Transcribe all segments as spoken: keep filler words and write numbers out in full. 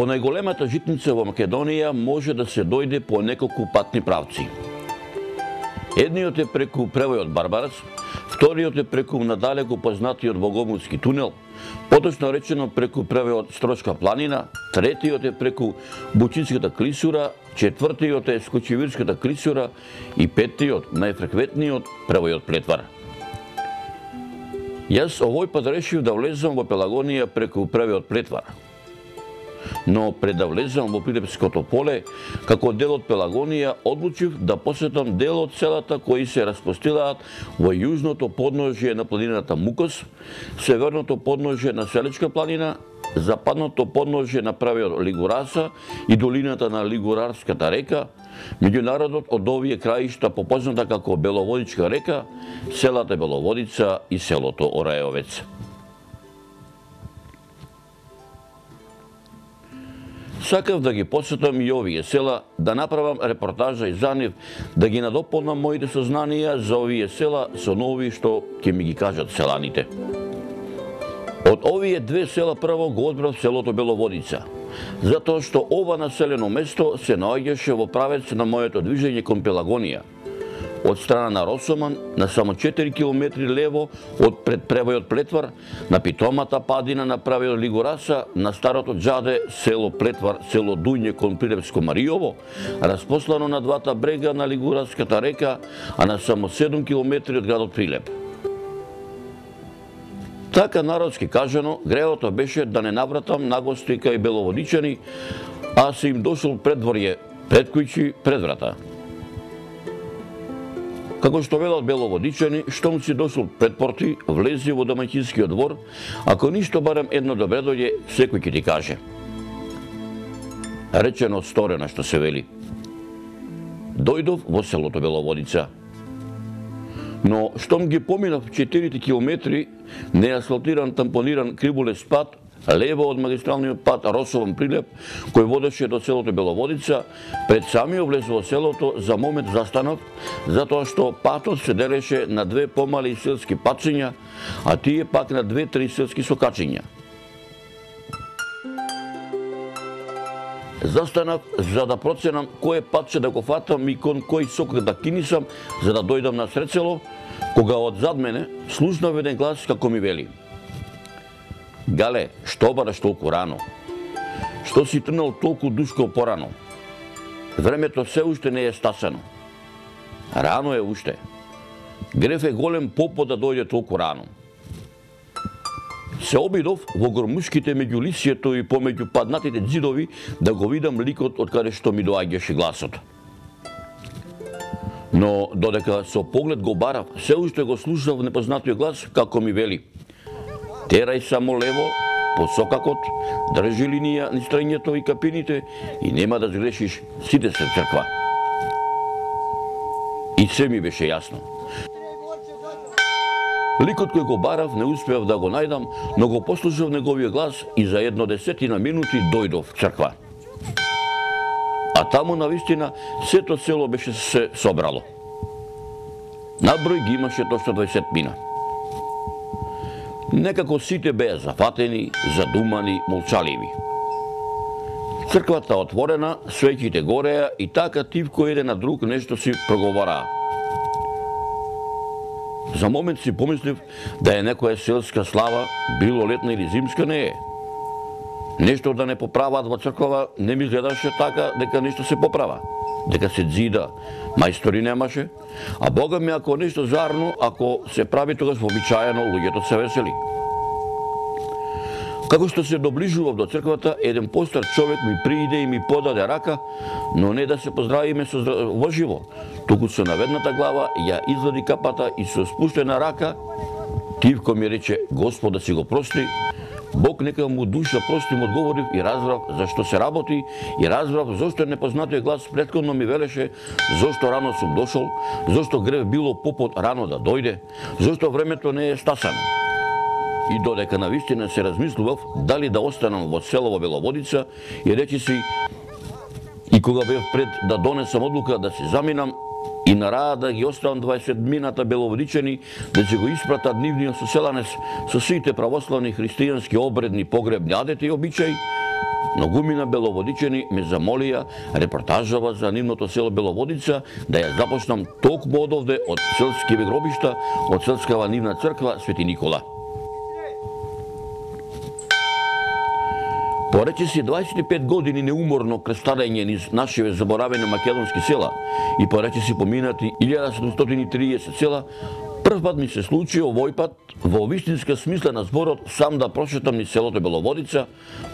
Во најголемата житница во Македонија може да се дојде по неколку патни правци. Едниот е преку превојот Барбарац, вториот е преку надалеку познатиот Богомилски тунел, поточно речено преку превојот Строчка планина, третиот е преку Бучинската клисура, четвртиот е Скочевирската клисура и петтиот, најфреквентниот, превојот Плетвар. Јас овој пат решив да влезам во Пелагонија преку превојот Плетвар. Но пред да влезам во Прилепското поле, како дел од Пелагонија, одлучив да посетам дел од селата кои се распостилаат во јужното подножје на планината Мукос, северното подножје на Селичка планина, западното подножје на правиот Лигураса и долината на Лигурарската река, меѓународот од овие краишта попозната како Беловодичка река, селата Беловодица и селото Орајовец. Сакав да ги посетам и овие села, да направам репортажа и за нив, да ги надополнам моите сознанија за овие села со нови што ќе ми ги кажат селаните. Од овие две села прво го одбрав селото Беловодица, затоа што ова населено место се наоѓаше во правец на моето движење кон Пелагонија. Од страна на Росоман, на само четири километри лево од пред превојот Плетвар, на питомата падина на правиот Лигураса, на старото џаде, село Плетвар, село Дуње кон Прилепско Маријово, распослано на двата брега на Лигураската река, а на само седум километри од градот Прилеп. Така народски кажано, гревото беше да не навратам нагости кај беловодичани, а се им дошол предворје, пред кујчи, пред врата. Како што велат беловодичани, штом си дошол пред порти, влези во домаќинскиот двор, ако ништо барем едно добре дојде, секој ќе ти каже. Речено сторено што се вели. Дојдов во селото Беловодица. Но штом ги поминав четирите километри, неасфалтиран тампониран кривулест пат, лево од магистралниот пат Росован Прилеп, кој водеше до селото Беловодица, пред самиот влез во селото за момент застанав, затоа што патот се делеше на две помали селски патчиња, а тие пак на две-три селски сокачиња. Застанав за да проценам кој патче да го фатам и кон кој сокак да кинисам за да дојдам на сред село, кога од зад мене слушнав еден глас како ми вели: Гале, што бараш толку рано? Што си трнал толку душко порано? Времето се уште не е стасано. Рано е уште. Греф е голем попо да дојде толку рано. Се обидов во гормушките меѓу лисието и помеѓу паднатите ѕидови да го видам ликот од каде што ми доаѓаше гласот. Но додека со поглед го барав, се уште го слушав непознатиот глас како ми вели: Терај само лево, по сокакот, држи линија низ стрењето и капините и нема да згрешиш, сите се црква. И се ми беше јасно. Ликот кој го барав не успеав да го најдам, но го послушав неговиот глас и за едно десетина минути дојдов в црква. А таму навистина сето село беше се собрало. Наброј ги имаше точно дваесет мина. Некако сите беа зафатени, задумани, молчаливи. Црквата отворена, свеќите гореа и така тивко еден на друг нешто си проговораа. За момент си помислив да е некоја селска слава, било летна или зимска, не е. Нешто да не поправаат во црквава не ми гледаше така дека нешто се поправа, дека се дзида, мајстори немаше, а Бога ми ако нешто зарно, ако се прави тогаш вообичаено, луѓето се весели. Како што се доближував до црквата, еден постар човек ми прииде и ми подаде рака, но не да се поздравиме со во живо, туку со наведната глава ја извади капата и со спуштена рака тивко ми рече: Господ да си го прости, Бог нека му душа прости, му одговорив и разбрав зашто се работи и разбрав зошто непознатиот глас претходно ми велеше зошто рано сум дошол, зошто грев било попот рано да дојде, зошто времето не е стасано. И додека навистина се размислував дали да останам во село Беловодица и речи си, и кога бев пред да донесам одлука да се заминам и на раа да ги оставам дваесет мината беловодичани да ќе го испратат нивниот соселанец со сите православни христијански обредни погребни адети и обичаи, многумина беловодичани ме замолија репортажава за нивното село Беловодица да ја започнам токму од овде од селскиве гробишта, од селскава нивна црква Свети Никола. Поречиси дваесет и пет години неуморно крстарење низ нашиве заборавени македонски села и поречиси поминати илјада седумстотини и триесет села, прв пат ми се случи овој пат во вистинска смисла на зборот сам да прошетам низ селото Беловодица,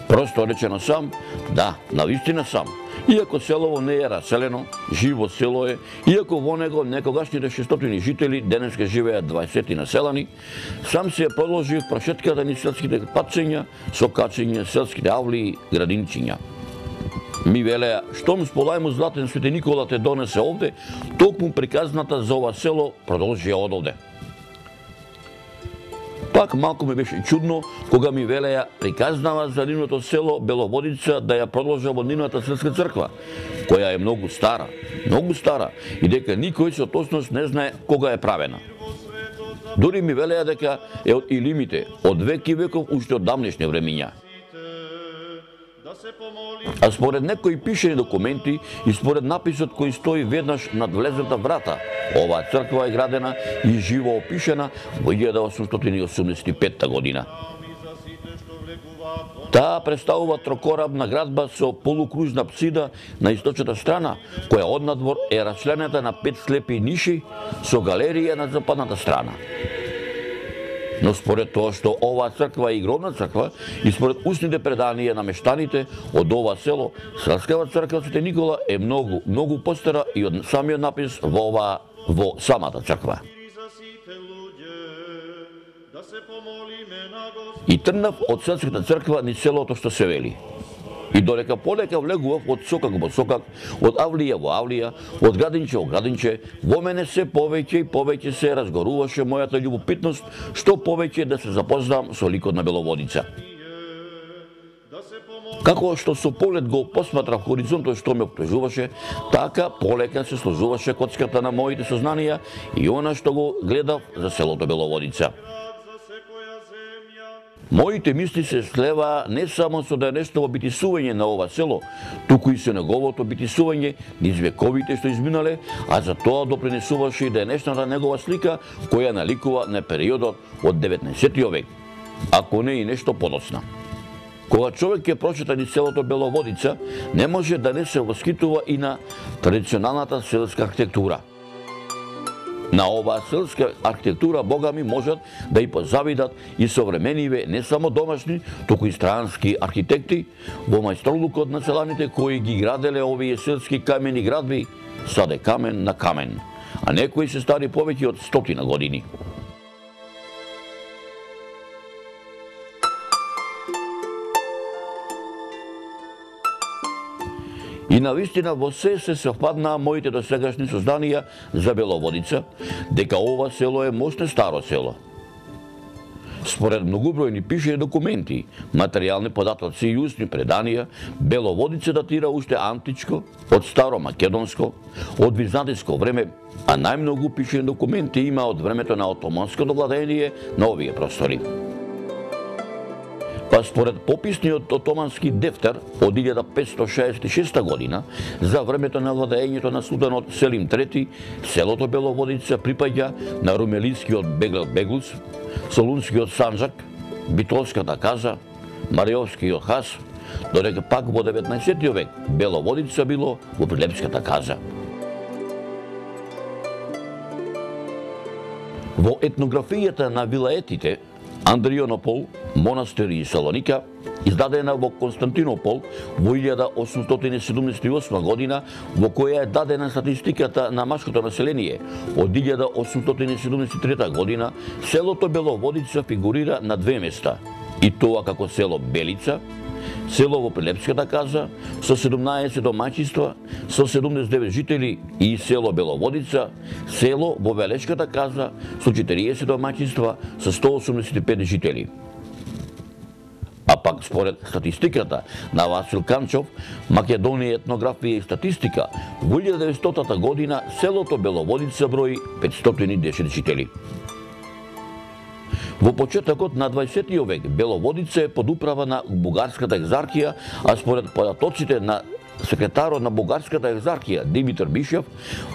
просто речено сам, да, навистина сам. Иако селово не е раселено, живо село е, иако во него некогашните шестстотини жители денеска живеат дваесет населани, сам се продолжив прошетката низ селските патчења, со качење селските авли и градинчиња. Ми велеа, штом сполајмо златен Свети Никола те донесе овде, токму приказната за ова село продолжија од овде. Пак малку ми беше чудно кога ми велеа приказнава за нивното село Беловодица да ја продолжа во нивната селска црква, која е многу стара, многу стара и дека никој со точност не знае кога е правена. Дури ми велеа дека е од илимите, од век и веков уште од давнешни времиња. А според некои пишени документи и според написот кој стои веднаш над влезната врата, оваа црква е градена и живо опишена во илјада осумстотини и осумдесет и петта година. Таа представува трокорабна градба со полукружна апсида на источната страна, која однадвор е расчленета на пет слепи ниши со галерија на западната страна. Но според тоа што оваа црква е игровна црква и според устните преданија на мештаните од ова село, селскава црква Свети Никола е многу, многу постара и од самиот напис во оваа во самата црква. И трнав од селската црква низ селото што се вели. И додека полека влегував од сокак во сокак, од авлија во авлија, од градинче во градинче, во мене се повеќе и повеќе се разгоруваше мојата љубопитност што повеќе да се запознам со ликот на Беловодица. Како што со поглед го посматрав хоризонтот што ме обкружуваше, така полека се сложуваше коцката на моите сознанија и она што го гледав за селото Беловодица. Моите мисли се слева не само со денешното битисување на ова село, туку и со неговото битисување низ вековите што изминале, а за тоа допринесуваше и денешната негова слика која наликува на периодот од деветнаесеттиот век, ако не и нешто подоцна. Кога човек ќе прочита низ селото Беловодица, не може да не се восхитува и на традиционалната селска архитектура. На оваа селска архитектура, бога ми, можат да и позавидат и современиве не само домашни, туку и странски архитекти во мајсторлукот на селаните кои ги граделе овие селски камени градби, саде камен на камен, а некои се стари повеќе од стотина години. И навистина во се се совпаднаа моите досегашни созданија за Беловодица, дека ова село е мощно старо село. Според многубројни пишени документи, материјални податоци и устни преданија, Беловодица датира уште античко, од старо македонско, од византиско време, а најмногу пишени документи има од времето на отоманското владење на овие простори. Па според пописниот отомански дефтер од илјада петстотини шеесет и шеста година, за времето на владењето на султанот Селим трети, селото Беловодица припаѓа на румелискиот Беглел Беглус, Солунскиот Санџак, Битолската каза, Мариовскиот хас, додека пак во деветнаесеттиот век Беловодица било во Прилепската каза. Во етнографијата на вилаетите Андријонопол, Монастир и Салоника, издадена во Константинопол во илјада осумстотини седумдесет и осма година, во која е дадена статистиката на машкото население. Од илјада осумстотини седумдесет и трета година, селото Беловодица фигурира на две места, и тоа како село Белица, село во Прилепската каза, со седумнаесет домаќинства, со седумдесет и девет жители, и село Беловодица, село во Велешката каза, со четириесет домаќинства, со сто осумдесет и пет жители. А пак според статистиката на Васил Канчов, Македонија етнографија и статистика, во илјада деветстотата година селото Беловодица брои петстотини и десет жители. Во почетокот на дваесеттиот век Беловодица е под управа на Бугарската екзархија, а според податоците на секретарот на Бугарската екзархија Димитар Бишев,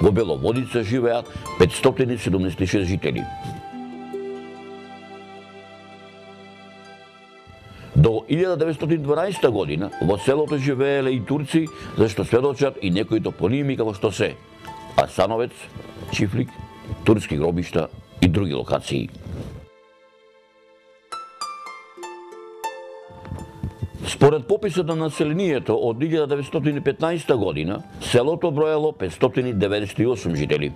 во Беловодица живеат петстотини и седумдесет и шест жители. До илјада деветстотини и дванаесета година во селото живееле и турци, зашто сведочат и некои топоними како што се Асановец, Чифлик, турски гробишта и други локации. Според пописот на населението од илјада деветстотини и петнаесета година, селото броело петстотини деветдесет и осум жители.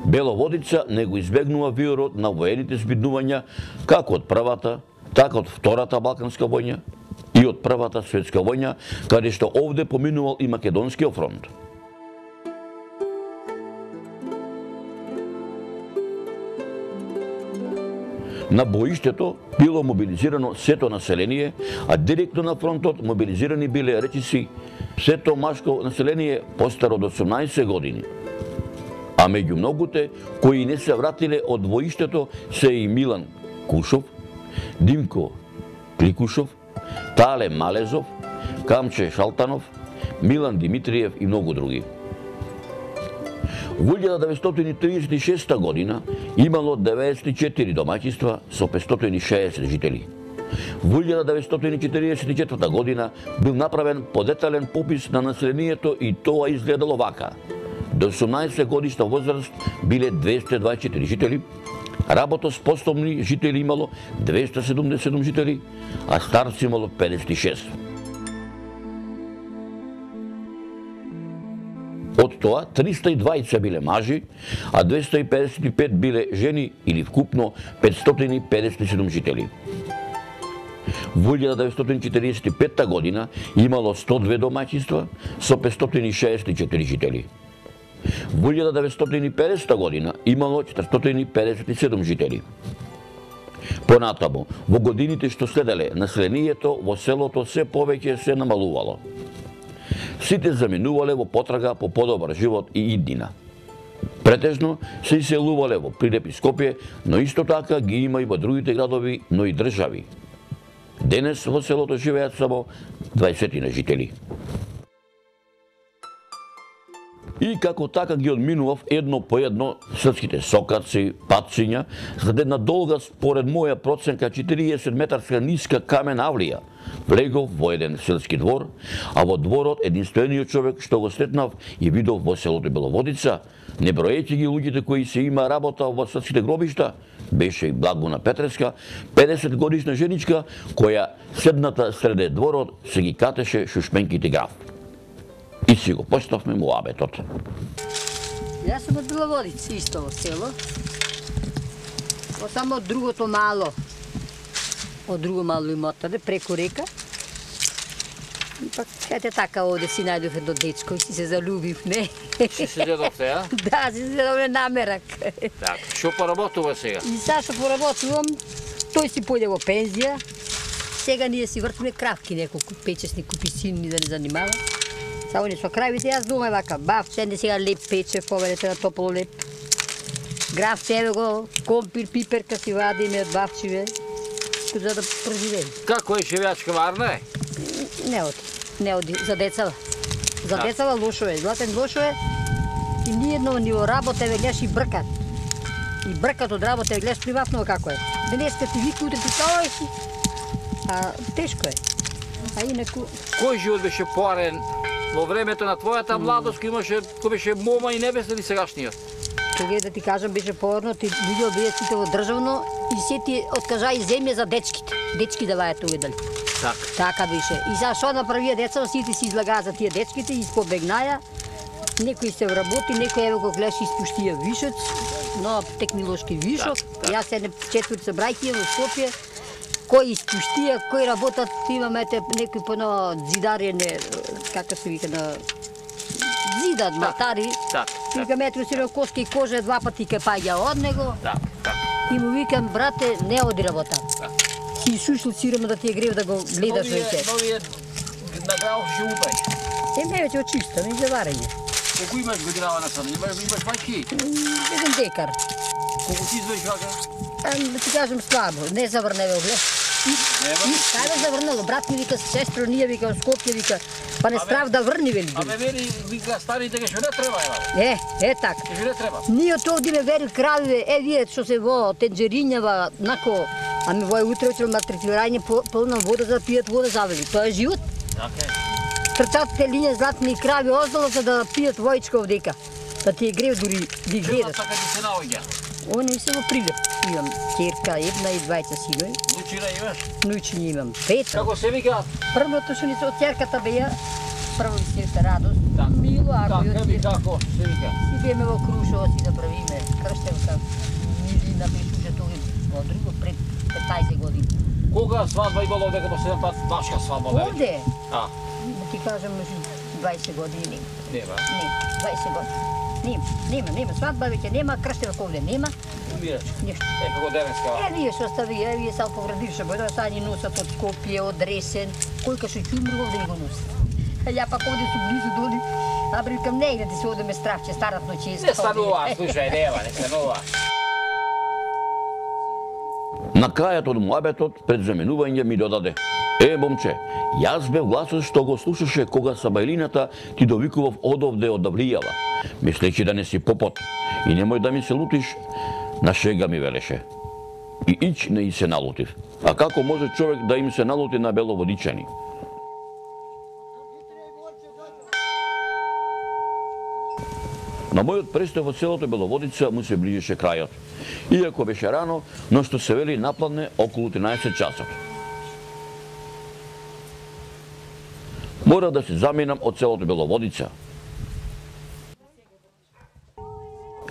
Беловодица не го избегнува виорот на воените збиднувања како од првата, така од Втората Балканска војна и од Првата светска војна, каде што овде поминувал и Македонскиот фронт. На боиштето било мобилизирано сето население, а директно на фронтот мобилизирани биле речиси сето машко население постаро од осумнаесет години. А меѓу многуте кои не се вратиле од воиштето се и Милан Кушов, Димко Кликушов, Тале Малезов, Камче Шалтанов, Милан Димитриев и многу други. Во илјада деветстотини триесет и шеста година имало деветдесет и четири домаќинства со петстотини и шеесет жители. Во илјада деветстотини четиридесет и четврта година бил направен подетален попис на населението и тоа изгледало вака. До осумнаесет годишна возраст биле двесте и дваесет и четири жители, работоспособни жители имало двесте и седумдесет и седум жители, а старци имало педесет и шест. Од тоа, триста и дваесет биле мажи, а двесте и педесет и пет биле жени или вкупно петстотини и педесет и седум жители. Во илјада деветстотини четиридесет и петта година имало сто и две домаќинства со петстотини и шеесет и четири жители. Во илјада деветстотини и педесета година имало четиристотини и педесет и седум жители. Понатаму, во годините што следеле, населението во селото се повеќе се намалувало. Сите заминувале во потрага по подобар живот и иднина. Претежно се иселувале во Прилеп и Скопје, но исто така ги има и во другите градови, но и држави. Денес во селото живеат само дваесет жители. И како така ги одминував едно по едно српските сокаци, патциња, за една долга, според моја проценка, четириесет метарска ниска камен авлија, влегов во еден селски двор, а во дворот единствениот човек што го сретнав и видов во селото Беловодица, не броејќи ги луѓето кои се има работа во српските гробишта, беше и Благона Петреска, педесет годишна женичка, која седната среде дворот се ги катеше шушменките граф. И си го почнавме муабетот. Јас сум од Беловодица, исто во село. Во само од другото мало, од друго мало имотаде, преку река. И пак, ете така, овде си најдов едно дечко и си се залюбив, не? Си се дедовте, а? Да, си се дедовте намерак. Так, шо поработува сега? И сега што поработувам, тој си појде во пензија. Сега ние си вртиме кравки неколку, печесни куписини да не занимава. Само не со кравите, јас дома вака, бавче, не сега леп пече, поведете на топло леп. Графче, еве го, компир, пиперка си вадиме од бавчиве, за да преживеем. Како е живеачка варна е? Не оди, не оди, за децава. За децава лошо е, златен лошо е. И ниедно ни во работа, еве гледаш и бркат. И бркат од работа, еве гледаш приватно како е. Денеска ти вика, утре ти као си. А тешко е. А инаку... Кој живот беше поарен во времето на твојата младост, кој имаше, кој беше мома и небесна или сегашниот? Кога да ти кажам, беше поарно, ти луѓе бидат сите во државно и се ти откажа и земја за дечките. Дечки да вајат тој дали. Так. Така беше. И сега што направија деца, сите си излагаа за тие дечките и испобегнаја. Некои се вработи, некои еве го гледаш испуштија вишец, но технолошки вишок. Так, так. Јас се четврти брајки во Скопје. Кои испуштија, кои работат, имаме некои поно зидарене, како се вика на зидат, малтари. Так, Вика метро си коски и кожа два пати ке паѓа од него. Так, так. И му викам, брате, не оди работа. Так. Си сушил сирема да ти е грев да го гледаш веќе. Новиот награв живупај. Е, не веќе очиста, не за варење. Колку имаш годинава на сад? Имаш, имаш мајки? Еден декар. Колку ти извеш вака? Да ти кажем слабо, не заврневе, глед. Кај заврнало, брат ми вика сестро, ние вика Скопје вика, па не страв да врни вели. Абе вели вика старите ке што не треба ева. Е, е така. Што не треба. Ние од овде ме вери кравиве, е вие што се во тенџеринјава, нако, ами во утре вечер малтретирање полна вода за да пијат вода завели. Тоа е живот. Така е. Трцатите линија златни крави оздало за да пијат војчка овдека. Да ти е грев дури ги гледат. Така ти се наоѓа. Они се во Прилеп. Имам ќерка, една и двајца синови. Лучина имаш? Нујчиња имам пет. Како се вика? Првото што ни се од ќерката беа, прво ми се радост. Мило, ако Така би како се вика? си биеме во Крушево си да правиме крштевка. Милина беше тоа во друго пред петнаесет години. Кога свадба имало овде по седем пат вашка свадба? Овде? А. Да ти кажам, меѓу дваесет години. Нема. Не, дваесет години. Нема, нема, нема. Свадба веќе нема, крштевка овде нема. Умираш. Ништо. Е, како денеска. Е, вие што остави, е, вие сам поградивше, бе, сега ни носат од Скопје, од Ресен, кој кај што ќумри овде ни го носат. А ја пак овде су близу доли, а брикам негде ти се одеме стравче, старат ночиска. Не станува, слушај, нема, не станува. На крајот од муабетот пред заменување ми додаде: Е, момче, јас бев гласот што го слушаше кога сабајлината ти довикував одовде од Давлијава, мислејќи да не си попот и немој да ми се лутиш, на шега ми велеше. И ич не и се налутив. А како може човек да им се налути на беловодичани? На мојот престој во селото Беловодица му се ближеше крајот. Иако беше рано, но што се вели напладне околу тринаесет часот. Мора да се заминам од селото Беловодица.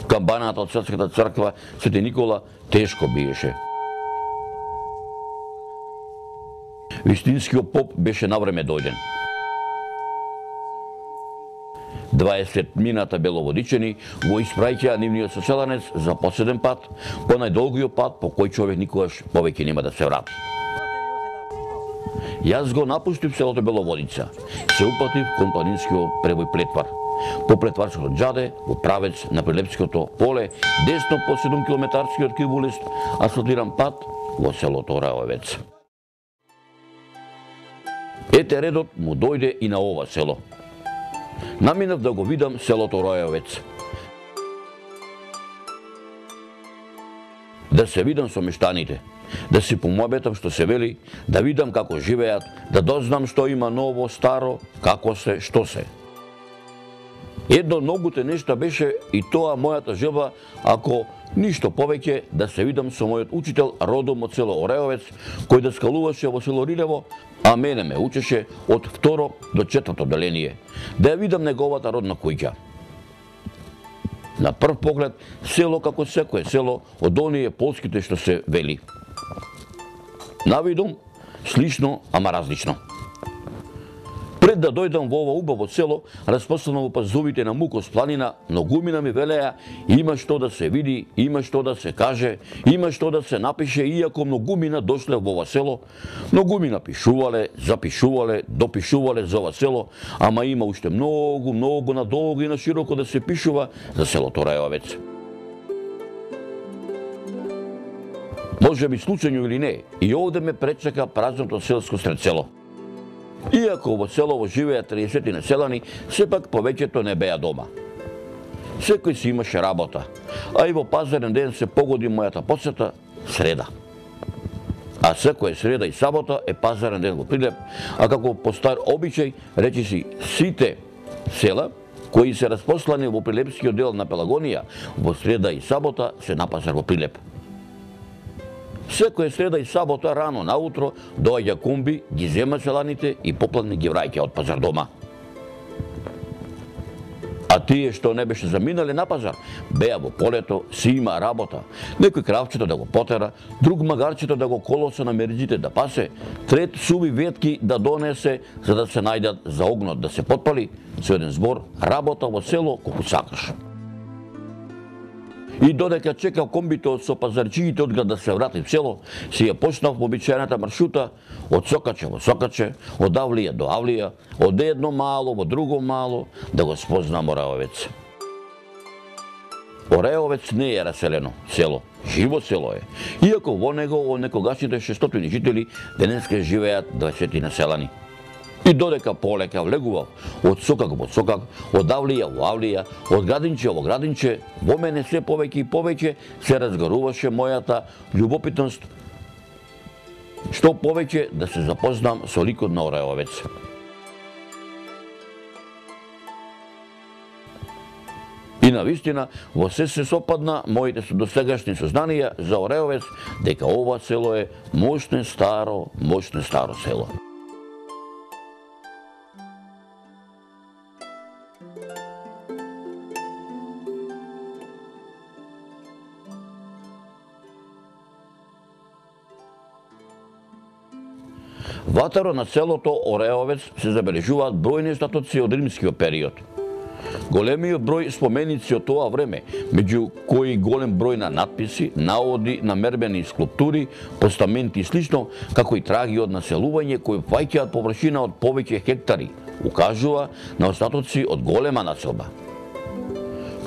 Камбаната од Светската црква Свети Никола тешко биеше. Вистинскиот поп беше навреме дојден. дваесет мината беловодичани го испраќаа нивниот соселанец за последен пат, по најдолгиот пат по кој човек никогаш повеќе нема да се врати. Јас го напуштив селото Беловодица, се упатив кон планинскиот превој Плетвар. По Плетварското џаде, во правец на Прилепското поле, десно по седум километарскиот кибулист, асфалтиран пат во селото Рајовец. Ете редот му дојде и на ова село. Наминав да го видам селото Ројовец. Да се видам со мештаните, да си помојбетам што се вели, да видам како живеат, да дознам што има ново, старо, како се, што се. Едно од многуте нешта беше и тоа мојата желба, ако ништо повеќе, да се видам со мојот учител родом од село Ореовец, кој да скалуваше во село Рилево, а мене ме учеше од второ до четврто деление, да ја видам неговата родна куќа. На прв поглед, село како секое село од оние полските што се вели. Навидом, слично, ама различно. Пред да дојдам во ова убаво село, распослано во пазовите на Мукос планина, многумина ми велеа, има што да се види, има што да се каже, има што да се напише, иако многумина дошле во ова село, многумина пишувале, запишувале, допишувале за ова село, ама има уште многу, многу надолго и на широко да се пишува за селото Рајовец. Може би случајно или не, и овде ме пречека празното селско сред село. Иако во селово живеат триесет населани, сепак повеќето не беа дома. Секој си имаше работа, а и во пазарен ден се погоди мојата посета среда. А секоја среда и сабота е пазарен ден во Прилеп, а како по стар обичај, речи си сите села кои се распослани во Прилепскиот дел на Пелагонија, во среда и сабота се на пазар во Прилеп. Секоја среда и сабота рано наутро доаѓа комби, ги зема селаните и попладне ги враќа од пазар дома. А тие што не беше заминале на пазар, беа во полето, си има работа. Некој кравчето да го потера, друг магарчето да го колоса на мериџите да пасе, трет суви ветки да донесе за да се најдат за огнот да се потпали, со еден збор работа во село колку сакаш. И додека чекав комбито со пазарчиите од град да се врати в село, си ја почнав обичајната маршрута од Сокаче во Сокаче, од Авлија до Авлија, од едно мало во друго мало, да го спознам Ораовец. Ореовец не е раселено село, живо село е. Иако во него од некогашните шестстотини жители денеска живеат дваесет населани. И додека полека влегував од сокак во сокак, од авлија во авлија, од градинче во градинче, во мене се повеќе и повеќе се разгаруваше мојата љубопитност што повеќе да се запознам со ликот на Ореовец. И навистина, во се се сопадна моите досегашни сознанија за Ореовец дека ова село е мощно старо, мощно старо село. Ватаро на селото Ореовец се забележуваат бројни статоци од римскиот период. Големиот број споменици од тоа време, меѓу кои голем број на надписи, наводи на мербени скулптури, постаменти и слично, како и траги од населување кои фаќаат површина од повеќе хектари, укажува на остатоци од голема населба.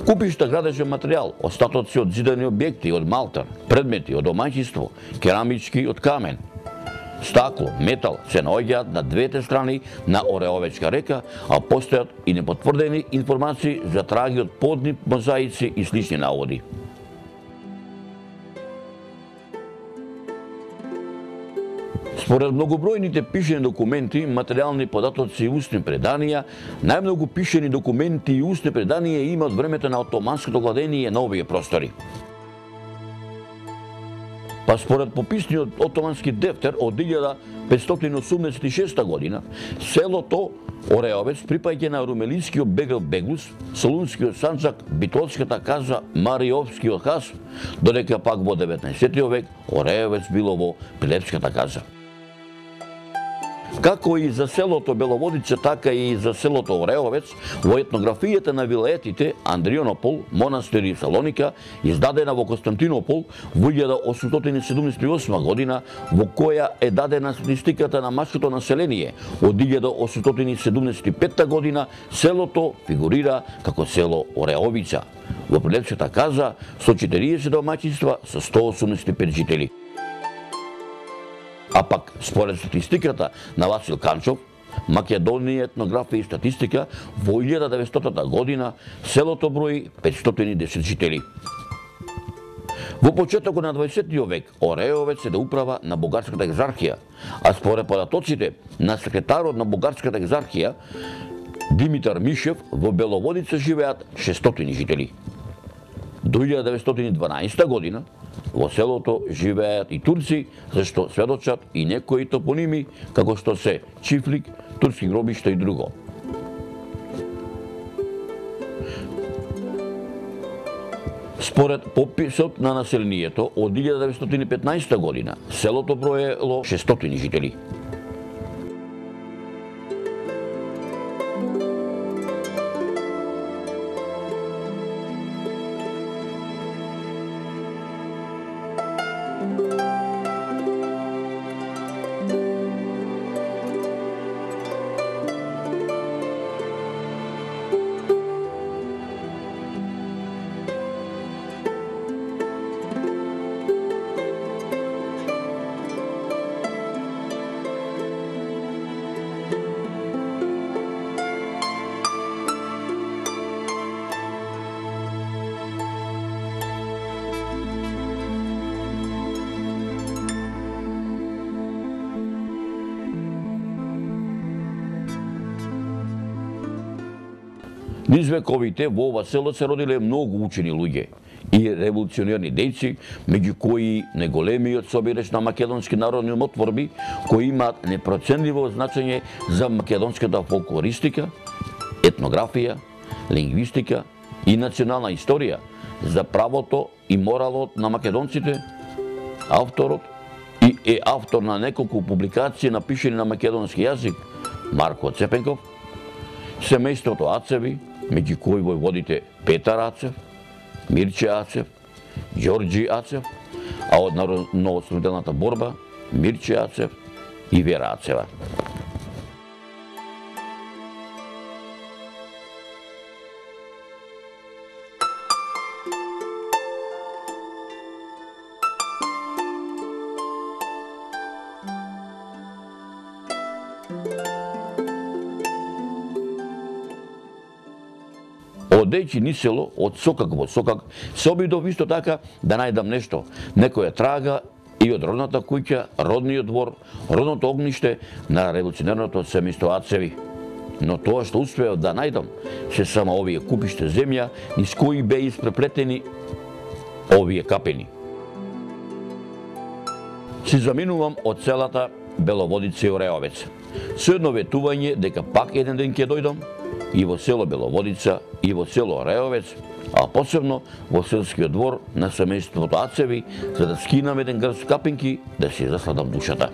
Купишта градежен материјал, остатоци од зидани објекти, од малтар, предмети од домаќинство, керамички од камен, стакло, метал се наоѓаат на двете страни на Ореовечка река, а постојат и непотврдени информации за траги од подни мозаици и слични наводи. Според многобројните пишени документи, материјални податоци и устни преданија, најмногу пишени документи и устни преданија има од времето на отоманското владење на овие простори. Па според пописниот отомански дефтер од илјада петстотини осумдесет и шеста година, селото Ореовец припаѓа на румелискиот бегал Беглус, солунскиот Санчак, битолската каза Мариовскиот хас, додека пак во деветнаесеттиот век Ореовец било во Прилепската каза. Како и за селото Беловодица, така и за селото Ореовец, во етнографијата на вилаетите Андрионопол, Монастир и Салоника, издадена во Константинопол во илјада осумстотини седумдесет и осма година, во која е дадена статистиката на машкото население, од илјада осумстотини седумдесет и петта година селото фигурира како село Ореовица. Во Прилепската каза со четириесет домаќинства со сто осумдесет и пет жители. А пак, според статистиката на Васил Канчов, Македонија етнографија и статистика, во илјада деветстотна година селото брои петстотини и десет жители. Во почетокот на дваесеттиот век Ореовец е да управа на Бугарската екзархија, а според податоците на секретарот на Бугарската екзархија Димитар Мишев, во Беловодица живеат шестстотини жители. До илјада деветстотини и дванаесета година во селото живеат и турци, зашто сведочат и некои топоними, како што се Чифлик, турски гробишта и друго. Според пописот на населението од илјада деветстотини и петнаесета година, селото броело шестстотини жители. Низ вековите во ова село се родиле многу учени луѓе и револуционерни дејци, меѓу кои неголемиот собирач на македонски народни умотворби, кои имаат непроценливо значење за македонската фолклористика, етнографија, лингвистика и национална историја, за правото и моралот на македонците. Авторот и е автор на неколку публикации напишени на македонски јазик Марко Цепенков, семејството Ацеви, меѓу кои војводите Петар Ацев, Мирче Ацев, Ѓорѓи Ацев, а од народно-ослободителната борба Мирче Ацев и Вера Ацева. Одејќи ни село, од сокак во сокак, се обидов исто така да најдам нешто, некоја трага и од родната куќа, родниот двор, родното огниште на револуционерното семејство Ацеви. Но тоа што успеав да најдам, се само овие купиште земја, низ кои беа испреплетени овие капени. Си заминувам од селата Беловодица и Ореовец. Со едно ветување дека пак еден ден ќе дојдам и во село Беловодица, и во село Ореовец, а посебно во селскиот двор на семејството Ацеви, за да скинам еден грст капинки да си засладам душата.